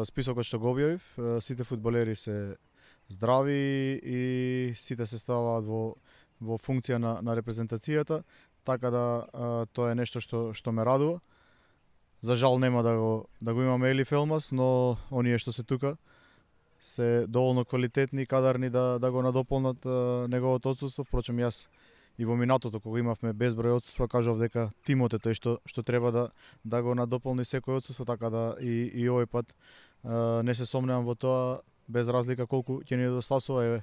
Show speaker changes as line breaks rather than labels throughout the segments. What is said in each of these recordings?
списокот што го објавив, сите фудбалери се здрави и сите се ставаат во функција на репрезентацијата, така да тоа е нешто што ме радува. За жал нема да го имаме Елиф Елмас, но оние што се тука се доволно квалитетни и кадарни да го надополнат неговото отсуство. Впрочем, јас и во минатото кога имавме безброј отсуства кажав дека тимот е тој што треба да го надополни секој отсуство, така да и овој пат не се сомневам во тоа, без разлика колку ќе ни недостасува, е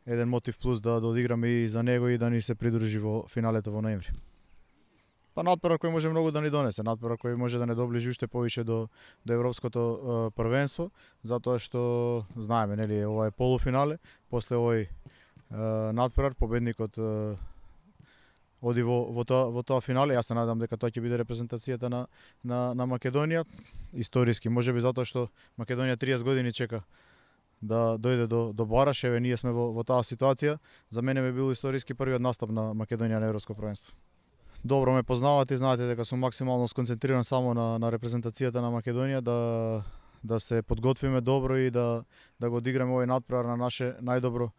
еден мотив плюс да одиграме и за него и да ни се придружи во финалето во ноември. Па натпревар кој може многу да ни донесе, натпревар кој може да не доближи уште повеќе до европското првенство, затоа што знаеме, нели, ова е полуфинале, после овој натпревар победникот оди во тоа финале. Јас се надам дека тоа ќе биде репрезентацијата на Македонија, историски, можеби затоа што Македонија 30 години чека да дојде до бараш. Еве, ние сме во таа ситуација. За мене би бил историски првиот настап на Македонија на европско првенство. Добро ме познавате и знаете дека сум максимално сконцентриран само на репрезентацијата на Македонија, да се подготвиме добро и да го одиграме овој натпревар на наше најдобро,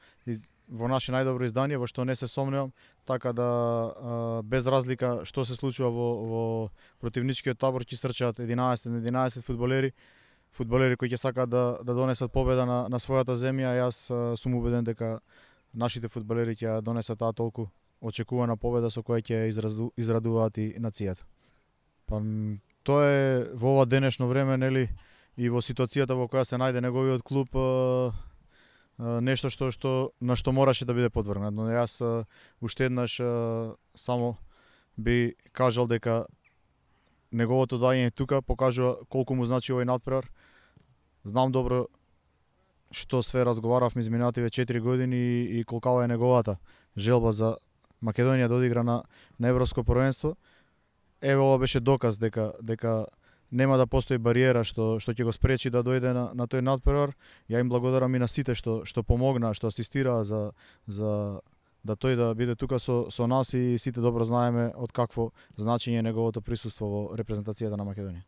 во наше најдобро издание, во што не се сомневам, така да без разлика што се случува во противничкиот табор ќе стрчаат 11 фудбалери кои ќе сакаат да донесат победа на својата земја. Јас сум убеден дека нашите фудбалери ќе донесат таа толку очекувана победа со која ќе израдуваат и нацијата. Па тоа е во ова денешно време, нели, и во ситуацијата во која се најде неговиот клуб, нешто на што мораше да биде подвргнат. Но јас уште еднаш само би кажал дека неговото доаѓање тука покажува колку му значи овој натпревар. Знам добро што све разговаравме изминативе 4 години и колкава е неговата желба за Македонија да одигра на европско првенство. Еве, ова беше доказ дека нема да постои бариера што ќе го спречи да дојде на тој натпревар. Ја им благодарам и на сите што помогнаа, што асистираа за да тој да биде тука со нас, и сите добро знаеме од какво значење е неговото присуство во репрезентацијата на Македонија.